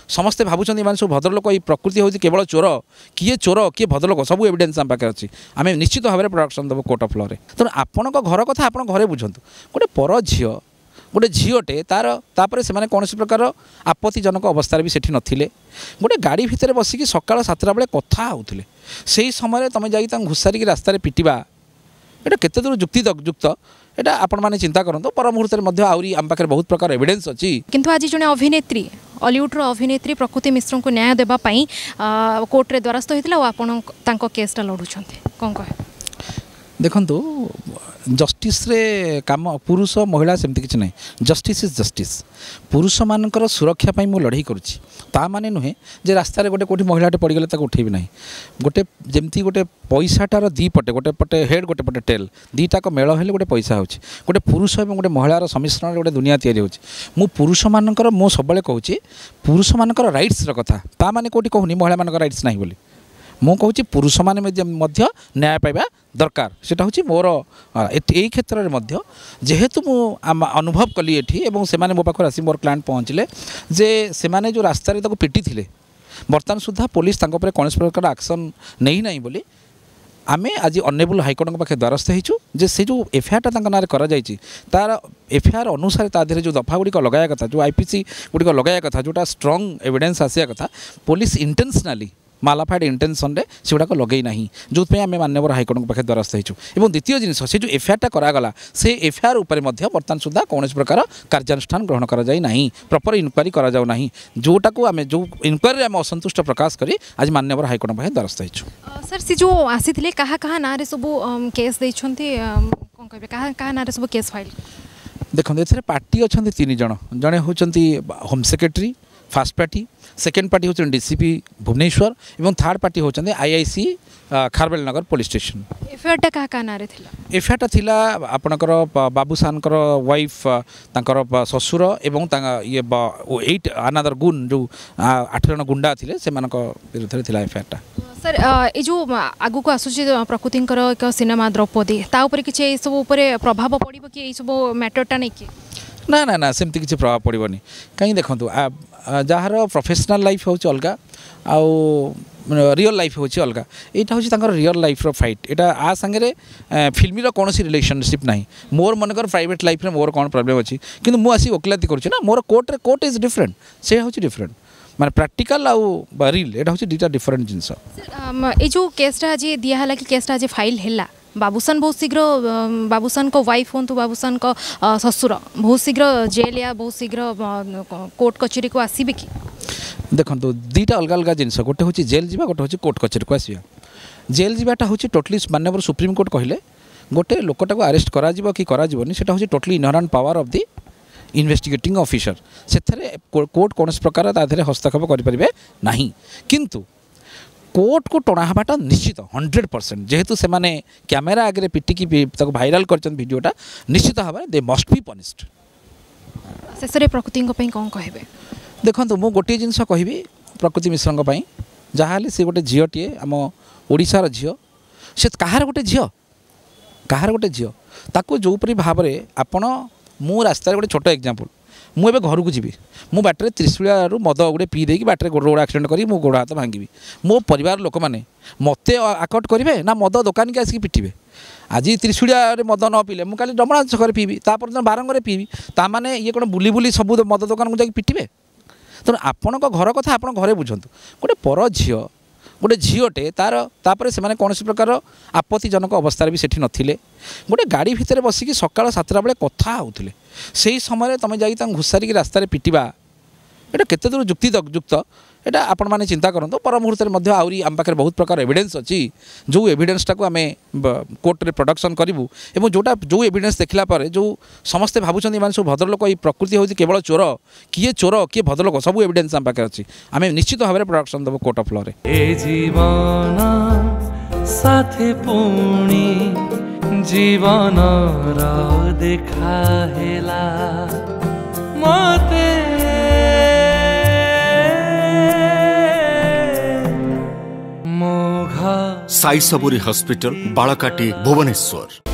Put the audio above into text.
ସମସ୍ତେ ଭାବୁଛନ୍ତି ଏମାନେ ସବୁ ଭଦ୍ରଲୋକ, ଏଇ ପ୍ରକୃତି ହେଉଛି କେବଳ ଚୋର। କିଏ ଚୋର, କିଏ ଭଦ୍ରଲୋକ, ସବୁ ଏଭିଡେନ୍ସ ଆମ ପାଖରେ ଅଛି। ଆମେ ନିଶ୍ଚିତ ଭାବରେ ପ୍ରଡକ୍ସନ୍ ଦେବୁ କୋର୍ଟ ଅଫ୍ ଲରେ। ତେଣୁ ଆପଣଙ୍କ ଘର କଥା ଆପଣ ଘରେ ବୁଝନ୍ତୁ। ଗୋଟେ ପର ଝିଅ, ଗୋଟେ ଝିଅଟେ ତାର, ତାପରେ ସେମାନେ କୌଣସି ପ୍ରକାର ଆପତ୍ତିଜନକ ଅବସ୍ଥାରେ ବି ସେଠି ନଥିଲେ। ଗୋଟେ ଗାଡ଼ି ଭିତରେ ବସିକି ସକାଳ 7ଟା ବେଳେ କଥା ହେଉଥିଲେ, ସେଇ ସମୟରେ ତୁମେ ଯାଇକି ତାଙ୍କୁ ଘୋଷାରିକି ରାସ୍ତାରେ ପିଟିବା, ଏଇଟା କେତେ ଦୂର ଯୁକ୍ତିଯୁକ୍ତ, ଏଇଟା ଆପଣମାନେ ଚିନ୍ତା କରନ୍ତୁ। ପର ମୁହୂର୍ତ୍ତରେ ମଧ୍ୟ ଆହୁରି ଆମ ପାଖରେ ବହୁତ ପ୍ରକାର ଏଭିଡେନ୍ସ ଅଛି। କିନ୍ତୁ ଆଜି ଜଣେ ଅଭିନେତ୍ରୀ, ଅଲିଉଡ଼ର ଅଭିନେତ୍ରୀ ପ୍ରକୃତି ମିଶ୍ରଙ୍କୁ ନ୍ୟାୟ ଦେବା ପାଇଁ କୋର୍ଟରେ ଦ୍ୱାରସ୍ଥ ହୋଇଥିଲା, ଆଉ ଆପଣ ତାଙ୍କ କେସ୍ଟା ଲଢ଼ୁଛନ୍ତି, କ'ଣ କହିବେ? ଦେଖନ୍ତୁ, ଜଷ୍ଟିସ୍ରେ କାମ ପୁରୁଷ ମହିଳା ସେମିତି କିଛି ନାହିଁ, ଜଷ୍ଟିସ୍ is justice. ପୁରୁଷମାନଙ୍କର ସୁରକ୍ଷା ପାଇଁ ମୁଁ ଲଢ଼େଇ କରୁଛି, ତା ମାନେ ନୁହେଁ ଯେ ରାସ୍ତାରେ ଗୋଟେ କେଉଁଠି ମହିଳାଟେ ପଡ଼ିଗଲେ ତାକୁ ଉଠେଇବି ନାହିଁ। ଗୋଟେ ଯେମିତି ଗୋଟେ ପଇସାଟାର ଦୁଇ ପଟେ, ଗୋଟେ ପଟେ ହେଡ଼୍, ଗୋଟେ ପଟେ ଟେଲ୍, ଦୁଇଟାକ ମେଳ ହେଲେ ଗୋଟେ ପଇସା ହେଉଛି। ଗୋଟେ ପୁରୁଷ ଏବଂ ଗୋଟେ ମହିଳାର ସମ୍ମିଶ୍ରଣରେ ଗୋଟେ ଦୁନିଆ ତିଆରି ହେଉଛି। ମୁଁ ପୁରୁଷମାନଙ୍କର, ମୁଁ ସବୁବେଳେ କହୁଛି ପୁରୁଷମାନଙ୍କର ରାଇଟ୍ସର କଥା, ତା ମାନେ କେଉଁଠି କହୁନି ମହିଳାମାନଙ୍କର ରାଇଟ୍ସ ନାହିଁ ବୋଲି। ମୁଁ କହୁଛି ପୁରୁଷମାନେ ମଧ୍ୟ ନ୍ୟାୟ ପାଇବା ଦରକାର, ସେଟା ହେଉଛି ମୋର ଏଇ କ୍ଷେତ୍ରରେ ମଧ୍ୟ। ଯେହେତୁ ମୁଁ ଅନୁଭବ କଲି ଏଠି, ଏବଂ ସେମାନେ ମୋ ପାଖରେ ଆସି ମୋର କ୍ଲାଏଣ୍ଟ ପହଞ୍ଚିଲେ ଯେ ସେମାନେ ଯେଉଁ ରାସ୍ତାରେ ତାକୁ ପିଟିଥିଲେ, ବର୍ତ୍ତମାନ ସୁଦ୍ଧା ପୋଲିସ ତାଙ୍କ ଉପରେ କୌଣସି ପ୍ରକାର ଆକ୍ସନ୍ ନେଇନାହିଁ ବୋଲି ଆମେ ଆଜି ଅନରେବୁଲ୍ ହାଇକୋର୍ଟଙ୍କ ପାଖରେ ଦ୍ୱାରସ୍ଥ ହେଇଛୁ ଯେ ସେ ଯେଉଁ ଏଫଆଇଆର୍ଟା ତାଙ୍କ ନାଁରେ କରାଯାଇଛି, ତାର ଏଫଆଇଆର୍ ଅନୁସାରେ ତା ଦେହରେ ଯେଉଁ ଦଫା ଗୁଡ଼ିକ ଲଗାଇବା କଥା, ଯେଉଁ ଆଇପିସି ଗୁଡ଼ିକ ଲଗାଇବା କଥା, ଯେଉଁଟା ଷ୍ଟ୍ରଙ୍ଗ ଏଭିଡେନ୍ସ ଆସିବା କଥା, ପୋଲିସ ଇଣ୍ଟେନ୍ସନାଲି ମାଲାଫାଇଡ୍ ଇଣ୍ଟେନସନ୍ରେ ସେଗୁଡ଼ାକ ଲଗେଇ ନାହିଁ, ଯେଉଁଥିପାଇଁ ଆମେ ମାନ୍ୟବର ହାଇକୋର୍ଟଙ୍କ ପାଖରେ ଦ୍ୱାରସ୍ଥ ହେଇଛୁ। ଏବଂ ଦ୍ୱିତୀୟ ଜିନିଷ, ସେ ଯେଉଁ ଏଫଆଇଆର୍ଟା କରାଗଲା, ସେ ଏଫଆଇଆର୍ ଉପରେ ମଧ୍ୟ ବର୍ତ୍ତମାନ ସୁଦ୍ଧା କୌଣସି ପ୍ରକାର କାର୍ଯ୍ୟାନୁଷ୍ଠାନ ଗ୍ରହଣ କରାଯାଇ ନାହିଁ, ପ୍ରପର ଇନକ୍ୱାରି କରାଯାଉ ନାହିଁ, ଯେଉଁଟାକୁ ଆମେ ଯେଉଁ ଇନକ୍ୱାରିରେ ଆମେ ଅସନ୍ତୁଷ୍ଟ ପ୍ରକାଶ କରି ଆଜି ମାନ୍ୟବର ହାଇକୋର୍ଟଙ୍କ ପାଖରେ ଦ୍ୱାରସ୍ଥ ହେଇଛୁ। ସାର୍, ସେ ଯେଉଁ ଆସିଥିଲେ, କାହା କାହା ନାଁରେ ସବୁ କେସ୍ ଦେଇଛନ୍ତି, କ'ଣ କହିବେ, କାହା କାହା ନାଁରେ ସବୁ କେସ୍ ଫାଇଲ୍? ଦେଖନ୍ତୁ, ଏଥିରେ ପାର୍ଟି ଅଛନ୍ତି 3 ଜଣ। ଜଣେ ହେଉଛନ୍ତି home secretary, first party, second party ହେଉଛନ୍ତି ଡିସିପି ଭୁବନେଶ୍ୱର, ଏବଂ ଥାର୍ଡ଼ ପାର୍ଟି ହେଉଛନ୍ତି ଆଇଆଇସି ଖାରବେଲ ନଗର ପୋଲିସ ଷ୍ଟେସନ। ଏଫଆଇଆର୍ଟା କାହା କାହା ନାଁରେ ଥିଲା? ଏଫଆଇଆର୍ଟା ଥିଲା ଆପଣଙ୍କର ବାବୁସାନଙ୍କର ୱାଇଫ୍, ତାଙ୍କର ଶ୍ୱଶୁର ଏବଂ ତାଙ୍କ ଇଏ 8 ଆନାଦର ଗୁନ୍, ଯେଉଁ 8 ଜଣ ଗୁଣ୍ଡା ଥିଲେ, ସେମାନଙ୍କ ବିରୁଦ୍ଧରେ ଥିଲା ଏଫଆଇଆର୍ଟା। ସାର୍, ଏ ଯେଉଁ ଆଗକୁ ଆସୁଛି ପ୍ରକୃତିଙ୍କର ଏକ ସିନେମା ଦ୍ରୌପଦୀ, ତା ଉପରେ କିଛି ଏଇସବୁ ଉପରେ ପ୍ରଭାବ ପଡ଼ିବ କି, ଏଇସବୁ ମ୍ୟାଟରଟା ନେଇକି? ନା ନା ନା, ସେମିତି କିଛି ପ୍ରଭାବ ପଡ଼ିବନି। କାହିଁକି ଦେଖନ୍ତୁ, ଯାହାର ପ୍ରଫେସନାଲ୍ ଲାଇଫ୍ ହେଉଛି ଅଲଗା ଆଉ ରିଅଲ୍ ଲାଇଫ୍ ହେଉଛି ଅଲଗା। ଏଇଟା ହେଉଛି ତାଙ୍କର ରିଅଲ୍ ଲାଇଫ୍ର ଫାଇଟ୍, ଏଇଟା ଆ ସାଙ୍ଗରେ ଫିଲ୍ମର କୌଣସି ରିଲେସନସିପ୍ ନାହିଁ। ମୋର ମନେକର ପ୍ରାଇଭେଟ୍ ଲାଇଫ୍ରେ ମୋର କ'ଣ ପ୍ରୋବ୍ଲେମ୍ ଅଛି, କିନ୍ତୁ ମୁଁ ଆସି ଓକିଲାତି କରୁଛି ନା, ମୋର କୋର୍ଟରେ, କୋର୍ଟ is different, ସେ ହେଉଛି ଡିଫରେଣ୍ଟ, ମାନେ ପ୍ରାକ୍ଟିକାଲ୍ ଆଉ ରିଲ୍, ଏଇଟା ହେଉଛି ଦୁଇଟା ଡିଫରେଣ୍ଟ ଜିନିଷ। ଏଇ ଯେଉଁ କେସ୍ଟା ଆଜି ଦିଆହେଲା କି କେସ୍ଟା ଆଜି ଫାଇଲ୍ ହେଲା, ବାବୁସାନ ବହୁତ ଶୀଘ୍ର, ବାବୁସାନଙ୍କ ୱାଇଫ୍ ହୁଅନ୍ତୁ, ବାବୁସାନଙ୍କ ଶ୍ୱଶୁର ବହୁତ ଶୀଘ୍ର ଜେଲ୍ ୟା ବହୁତ ଶୀଘ୍ର କୋର୍ଟ କଚେରୀକୁ ଆସିବେ କି? ଦେଖନ୍ତୁ, ଦୁଇଟା ଅଲଗା ଅଲଗା ଜିନିଷ, ଗୋଟେ ହେଉଛି ଜେଲ୍ ଯିବା, ଗୋଟେ ହେଉଛି କୋର୍ଟ କଚେରୀକୁ ଆସିବା। ଜେଲ୍ ଯିବାଟା ହେଉଛି ଟୋଟାଲି ମାନ୍ୟବର ସୁପ୍ରିମକୋର୍ଟ କହିଲେ ଗୋଟେ ଲୋକଟାକୁ ଆରେଷ୍ଟ କରାଯିବ କି କରାଯିବନି, ସେଟା ହେଉଛି totally inherent power of the investigating officer, ସେଥିରେ କୋର୍ଟ କୌଣସି ପ୍ରକାର ତା ଦେହରେ ହସ୍ତକ୍ଷେପ କରିପାରିବେ ନାହିଁ। କିନ୍ତୁ କୋର୍ଟକୁ ଟଣା ହେବାଟା ନିଶ୍ଚିତ 100%, ଯେହେତୁ ସେମାନେ କ୍ୟାମେରା ଆଗରେ ପିଟିକି ତାକୁ ଭାଇରାଲ କରିଛନ୍ତି ଭିଡ଼ିଓଟା, ନିଶ୍ଚିତ ଭାବରେ ଦେ ମଷ୍ଟ ବି ପନିଶ୍ଡ। ଶେଷରେ ପ୍ରକୃତିଙ୍କ ପାଇଁ କ'ଣ କହିବେ? ଦେଖନ୍ତୁ, ମୁଁ ଗୋଟିଏ ଜିନିଷ କହିବି ପ୍ରକୃତି ମିଶ୍ରଙ୍କ ପାଇଁ, ଯାହାହେଲେ ସେ ଗୋଟେ ଝିଅଟିଏ, ଆମ ଓଡ଼ିଶାର ଝିଅ, ସେ କାହାର ଗୋଟେ ଝିଅ, କାହାର ଗୋଟେ ଝିଅ, ତାକୁ ଯେଉଁପରି ଭାବରେ ଆପଣ, ମୁଁ ରାସ୍ତାରେ ଗୋଟେ ଛୋଟ ଏକ୍ଜାମ୍ପଲ୍, ମୁଁ ଏବେ ଘରକୁ ଯିବି, ମୁଁ ବାଟରେ ତ୍ରିଶୂଳିଆରୁ ମଦ ଗୋଟେ ପିଇ ଦେଇକି ବାଟରେ ରୋଡ଼ ଆକ୍ସିଡେଣ୍ଟ କରି ମୁଁ ଗୋଡ଼ ହାତ ଭାଙ୍ଗିବି, ମୋ ପରିବାର ଲୋକମାନେ ମୋତେ ଆକଟ କରିବେ ନା ମଦ ଦୋକାନୀକି ଆସିକି ପିଟିବେ? ଆଜି ତ୍ରିଶୂଳିଆରେ ମଦ ନ ପିଇଲେ ମୁଁ କାଲି ଡମଣା ଛକରେ ପିଇବି, ତାପରଦିନ ବାରଙ୍ଗରେ ପିଇବି, ତାମାନେ ଇଏ କ'ଣ ବୁଲି ବୁଲି ସବୁ ମଦ ଦୋକାନକୁ ଯାଇକି ପିଟିବେ? ତେଣୁ ଆପଣଙ୍କ ଘର କଥା ଆପଣ ଘରେ ବୁଝନ୍ତୁ। ଗୋଟେ ପର ଝିଅ, ଗୋଟେ ଝିଅଟେ ତାର, ତାପରେ ସେମାନେ କୌଣସି ପ୍ରକାର ଆପତ୍ତିଜନକ ଅବସ୍ଥାରେ ବି ସେଠି ନଥିଲେ। ଗୋଟେ ଗାଡ଼ି ଭିତରେ ବସିକି ସକାଳ 7ଟା ବେଳେ କଥା ହେଉଥିଲେ, ସେଇ ସମୟରେ ତୁମେ ଯାଇକି ତାଙ୍କୁ ଘୋଷାରିକି ରାସ୍ତାରେ ପିଟିବା, ଏଇଟା କେତେ ଦୂର ଯୁକ୍ତିଯୁକ୍ତ, ଏଇଟା ଆପଣମାନେ ଚିନ୍ତା କରନ୍ତୁ। ପର ମୁହୂର୍ତ୍ତରେ ମଧ୍ୟ ଆହୁରି ଆମ ପାଖରେ ବହୁତ ପ୍ରକାର ଏଭିଡେନ୍ସ ଅଛି, ଯେଉଁ ଏଭିଡେନ୍ସଟାକୁ ଆମେ କୋର୍ଟରେ ପ୍ରଡକ୍ସନ୍ କରିବୁ, ଏବଂ ଯେଉଁଟା ଯେଉଁ ଏଭିଡେନ୍ସ ଦେଖିଲା ପରେ ଯେଉଁ ସମସ୍ତେ ଭାବୁଛନ୍ତି ଏମାନେ ସବୁ ଭଦ୍ରଲୋକ, ଏଇ ପ୍ରକୃତି ହେଉଛି କେବଳ ଚୋର, କିଏ ଚୋର କିଏ ଭଦ୍ରଲୋକ, ସବୁ ଏଭିଡେନ୍ସ ଆମ ପାଖରେ ଅଛି। ଆମେ ନିଶ୍ଚିତ ଭାବରେ ପ୍ରଡକ୍ସନ୍ ଦେବୁ କୋର୍ଟ ଅଫ୍ ଲରେ। ଏ ଜୀବନ ସାଥେ ପୁଣି ଜୀବନର ଦେଖା ହେଲା ମତେ, ସାଇ ସବୁରି ହସ୍ପିଟାଲ, ବାଳକାଟି, ଭୁବନେଶ୍ୱର।